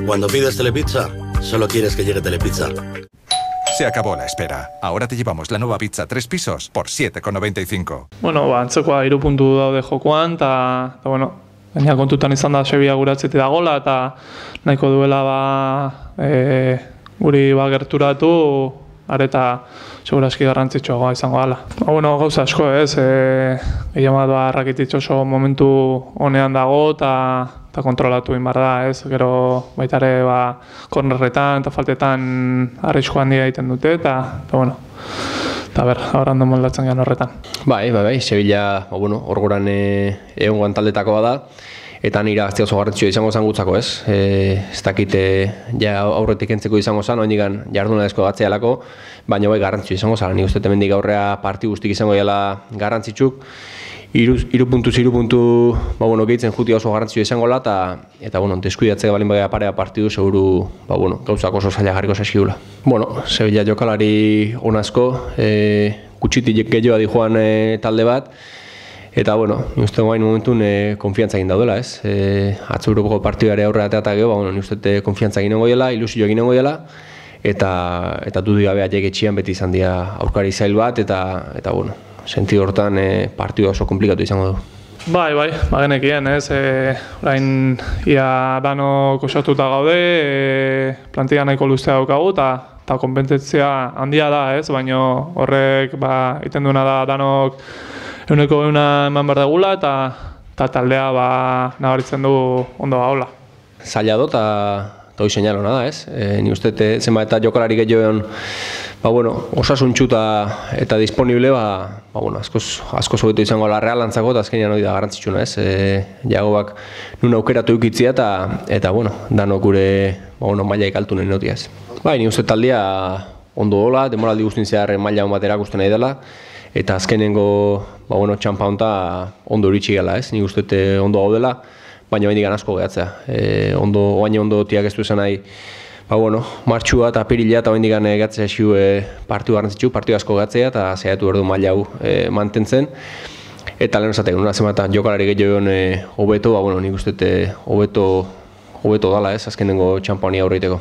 Cuando pides Telepizza, solo quieres que llegue Telepizza. Se acabó la espera. Ahora te llevamos la nueva pizza 3 pisos por 7,95. Bueno, antzekoa 3 puntu daude jokoan, eta bueno, gaina kontutan izan da Sevilla guratzetik dagola, eta nahiko duela guri gerturatu, areta segurazki garrantzitsuagoa izango dela. Bueno, gauza asko ez, gehien bat Rakitic oso momentu honean dago, eta kontrolatu egin behar da, ez? Gero baita ere kornerretan eta faltetan arrisku handia egiten dute, eta bueno, eta ahora ondo moldatzen gehan horretan. Bai, Sevilla, hor goran egon taldetako bada, eta nire gazte oso garrantzitsua izango zen gutzako, ez? Ez dakite aurretik entzeko izango zen, oindikan jardunalezko gatzealako, baina bai garrantzitsua izango zen. Nik uste hemendik aurrea parti guztik izango dela garrantzitsuk, 3 puntu gehitzen jutia oso garrantzitsua izango dela, eta deskuidatzea balin baina parea partidu, seguru gauzak oso zaila jarriko zaizkigula. Sevilla jokalari onazko, kutsitik gehiago dijoan talde bat, eta ni uste guain momentun konfiantza egin daudela, ez? Atzo Europako partidare aurrera eta gero, ni uste konfiantza egin dela, ilusio egin dela, eta dudik gabe aiek etxian beti izan dira aurkari zail bat, eta sentido hortan partidu oso komplikatu izango du. Bai, genekien, ez? Orain ia danok osatuta gaude, plantilla nahiko luzea daukagu, eta konpentetzia handia da, ez? Baina horrek egiten duena da danok euneko eman behar degula, eta taldea nabaritzen du ondo gaula. Zaila do, eta hori seinalona da, ez? Ni uste zenba eta jokalari gehiagoen osasuntxu eta disponible, asko zobetu izango la realantzako, eta azkenean hori da garrantzitsuna, ez? Jagobak nun aukeratu eukitzia, eta danok gure maila ikaltu nahi notia, ez? Bai, ni uste taldea ondo dola, demoraldi guztin zehar maila hon bat erakusten nahi dela, eta azkenengo txampa honta ondo iritsi gela, ez? Ni uste ondo gaudela, baina baindik asko gehatzea. Oain ondo tiak ez du esan nahi, martxua eta apirila eta baindik gehatzea esiu partiu garrantzitsu, partiu asko gehatzea, eta zehatu erdu maila hau mantentzen. Eta lehen esatek, nuna zenbat jokalari gehiagoen hobeto, nik uste hobeto dala, ez? Azkenengo txampa honi aurreiteko.